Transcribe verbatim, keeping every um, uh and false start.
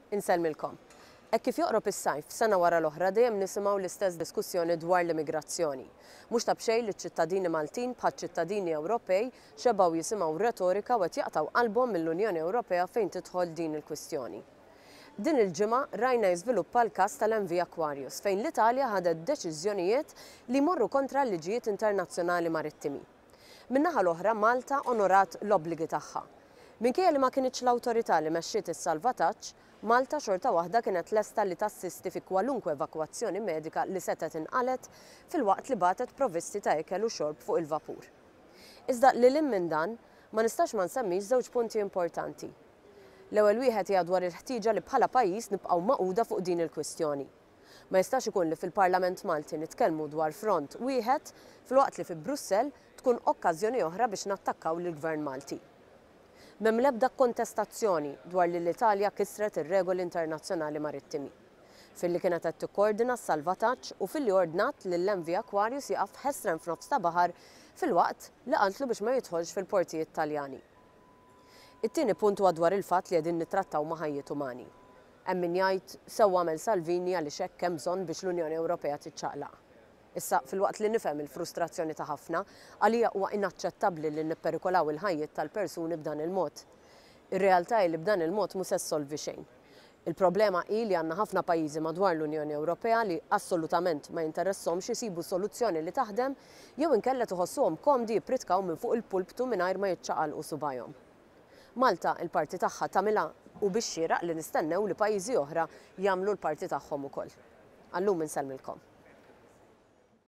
Insellmilkom. Hekk kif joqrob is-sajf, sena wara l-oħra dejjem nisimgħu l-istess diskussjoni dwar l-immigrazzjoni. Mhux ta' b'xejn li ċ-ċittadini Maltin bħaċ-ċittadini Ewropej xebgħu jisimgħu retorika u qed jaqtgħu qalbhom mill-Unjoni Ewropea fejn tidħol din il-kwistjoni. Din il-ġimgħa rajna jiżviluppa l-każ tal-M V Aquarius, fejn l-Italja ħadet deċiżjonijiet li jmorru kontra l-liġijiet internazzjonali marittimi. Min-naħa l-oħra, Malta onorat l-obbligi tagħha. Minkejja li ma kinitx l-awtorità li mexxiet is-salvataġġ, Malta xorta waħda kienet lesta li tassisti fi kwalunkwe evakwazzjoni medika li setgħet inqalet, filwaqt li bagħtet provvisti ta' ikel u xorb fuq il-vapur. Iżda lil minn dan, ma nistax ma nsemmix żewġ punti importanti. L-ewwel wieħed hija dwar il-ħtieġa li bħala pajjiż nibqgħu magħquda fuq din il-kwistjoni. Ma jistax ikun li fil-Parlament Malti nitkellmu dwar front wieħed, filwaqt li fi Brussell tkun okkażjoni oħra biex nattakkaw lill-Gvern Malti. M'hemm l-ebda kontestazzjoni dwar li l-Italja kisret ir-regoli internazzjonali marittimi filli kienet qed tikkoordina s-salvataġġ u filli ordnat lill-M V Aquarius jaqaf ħesrem f'nofs ta' baħar, filwaqt li qaltlu biex ma jidħolx fil-portijiet Taljani. It-tieni punt huwa dwar il-fatt li qegħdin nittrattaw ma' ħajjiet umani. Hemm min jgħid sew għamel Salvini għaliex hekk hemm bżonn biex l-Unjoni Ewropea tiċċaqlaq. Issa, filwaqt li nifhem il-frustrazzjoni ta' ħafna, għalija huwa inaċċettabbli li nipperikolaw il-ħajjiet tal-persuni b'dan il-mod. Ir-realtà hi li b'dan il-mod mhux se ssolvi xejn. Il-problema hi li għandna ħafna pajjiżi madwar l-Unjoni Ewropea li assolutament ma jinteressahomx isibu soluzzjoni li taħdem, jew inkella tħossuhom komdi jippritkaw minn fuq il-pulptu mingħajr ma jiċċaqalqu subajhom. Malta il-parti tagħha tagħmilha u bix-xieraq li nistennew li pajjiżi oħra jagħmlu l-parti tagħhom ukoll. Għallum insellmilkom.